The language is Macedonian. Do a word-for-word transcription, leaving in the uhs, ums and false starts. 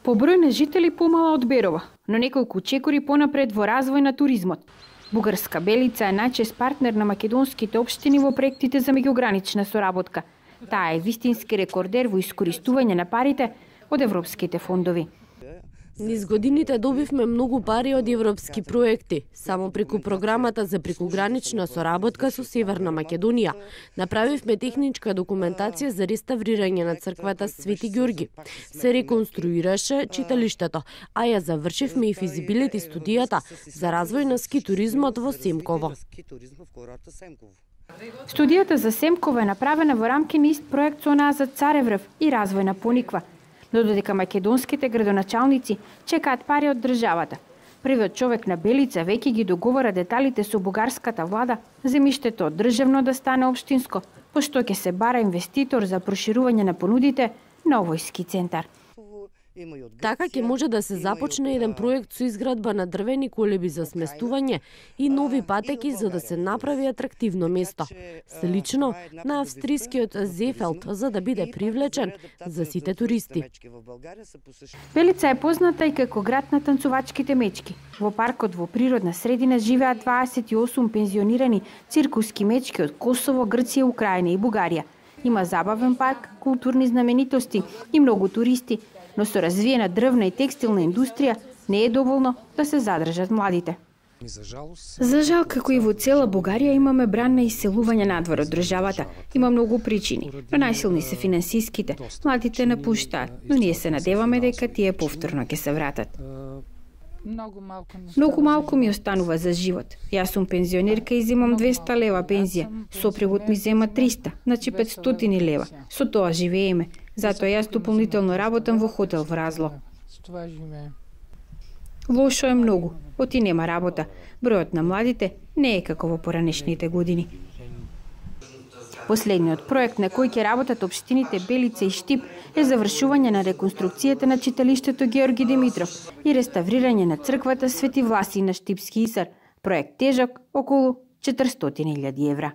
По број на жители помала од Берова, но неколку чекори понапред во развој на туризмот. Бугарска Белица е најчест партнер на македонските општини во проектите за меѓугранична соработка. Таа е вистински рекордер во искористување на парите од европските фондови. Низ годините добивме многу пари од европски проекти. Само преку програмата за прекугранична соработка со Северна Македонија направивме техничка документација за реставрирање на црквата Свети Ѓорги. Се реконструираше читалиштето, а ја завршивме и физибилити студијата за развој на ски туризмот во Семково. Студијата за Семково е направена во рамки на ист проект со онаа за Цареврв и развој на Пониква. Но додека македонските градоначалници чекаат пари од државата, првиот човек на Белица веќе ги договора деталите со бугарската влада, земјиштето од државно да стане општинско, пошто ќе се бара инвеститор за проширување на понудите на овој ски центар. Така ќе може да се започне еден проект со изградба на дрвени колеби за сместување и нови патеки за да се направи атрактивно место, слично на австрискиот Зефелд, за да биде привлечен за сите туристи. Белица е позната и како град на танцувачките мечки. Во паркот во природна средина живеат дваесет и осум пензионирани циркуски мечки од Косово, Грција, Украина и Бугарија. Има забавен парк, културни знаменитости и многу туристи, но со развиена дрвна и текстилна индустрија не е доволно да се задржат младите. За жал, како и во цела Бугарија, имаме бран на иселување надвор од државата. Има многу причини, но најсилни се финансиските. Младите напуштаат, но ние се надеваме дека тие повторно ќе се вратат. Многу малку ми останува за живот. Јас сум пензионерка и земам двеста лева пензија. Сопругот ми зема триста, значи петстотини лева. Со тоа живееме. Затоа јас дополнително работам во хотел во Разлог. Лошо е многу. Оти нема работа. Бројот на младите не е како во поранешните години. Последниот проект на кој ќе работат општините Белица и Штип е завршување на реконструкцијата на читалиштето Георги Димитров и реставрирање на црквата Свети Власий на Штипски Исар. Проект тежок околу четиристотини илјади евра.